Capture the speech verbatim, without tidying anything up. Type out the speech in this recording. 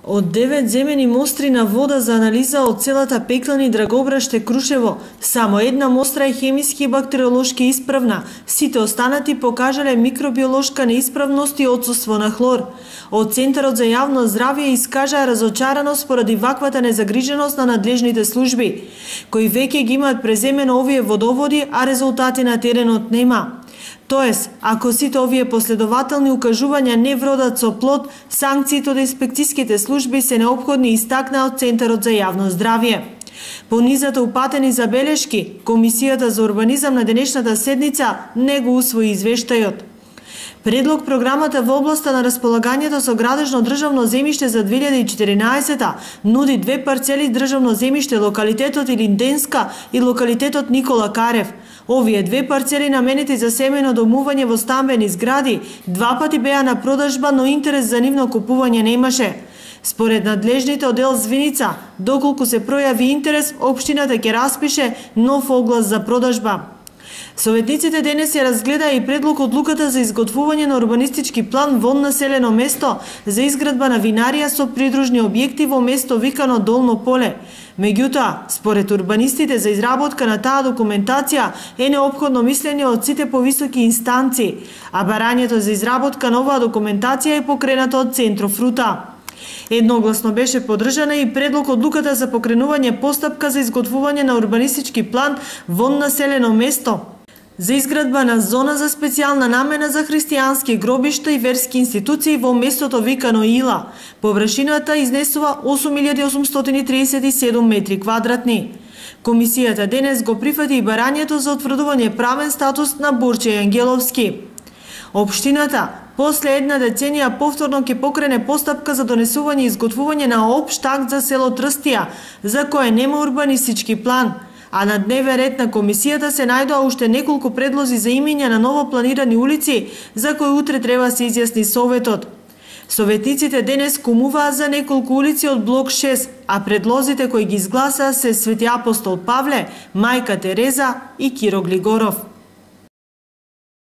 Од девет земени мостри на вода за анализа од целата Пеклани, Драгобраште, Крушево, само една мостра е хемиски и бактериолошки исправна. Сите останати покажале микробиолошка неисправност и отсуство на хлор. Од Центарот за јавно здравје искажаа разочараност поради ваквата незагриженост на надлежните служби, кои веќе ги имаат преземено овие водоводи, а резултати на теренот нема. Тоест, ако сите овие последователни укажувања не вродат со плод, санкциите од инспекцијските служби се неопходни, истакна од Центарот за јавно здравје. По низата упатени забелешки, Комисијата за урбанизам на денешната седница не го усвои извештајот. Предлог програмата во областа на располагањето со градежно државно земјиште за две илјади и четиринаесета нуди две парцели државно земјиште, локалитетот Илинденска и локалитетот Никола Карев. Овие две парцели наменети за семејно домување во стамбени згради два пати беа на продажба, но интерес за нивно купување немаше. Според надлежните оддел Звиница, доколку се пројави интерес, општината ќе распише нов оглас за продажба. Советниците денес ја разгледа и предлог одлуката за изготвување на урбанистички план во населено место за изградба на винарија со придружни објекти во место викано Долно поле. Меѓутоа, според урбанистите, за изработка на таа документација е неопходно мислење од сите повисоки инстанции, а барањето за изработка на оваа документација е покренато од Центрофрута. Едногласно беше поддржана и предлог одлуката за покренување постапка за изготвување на урбанистички план во населено место за изградба на зона за специјална намена за христијански гробишта и верски институции во местото викано Ила. Површината изнесува осум илјади осумстотини триесет и седум метри квадратни. Комисијата денес го прифати и барањето за утврдување правен статус на Борче Ангеловски. Општината после една деценија повторно ќе покрене постапка за донесување и изготвување на општ акт за село Трстија, за кое нема урбанистички план. А на дневен ред на комисијата се најдоа уште неколку предлози за имиња на ново планирани улици, за кои утре треба се изјасни советот. Советниците денес кумуваа за неколку улици од блок шест, а предлозите кои ги изгласаа се Свети Апостол Павле, Мајка Тереза и Киро Глигоров.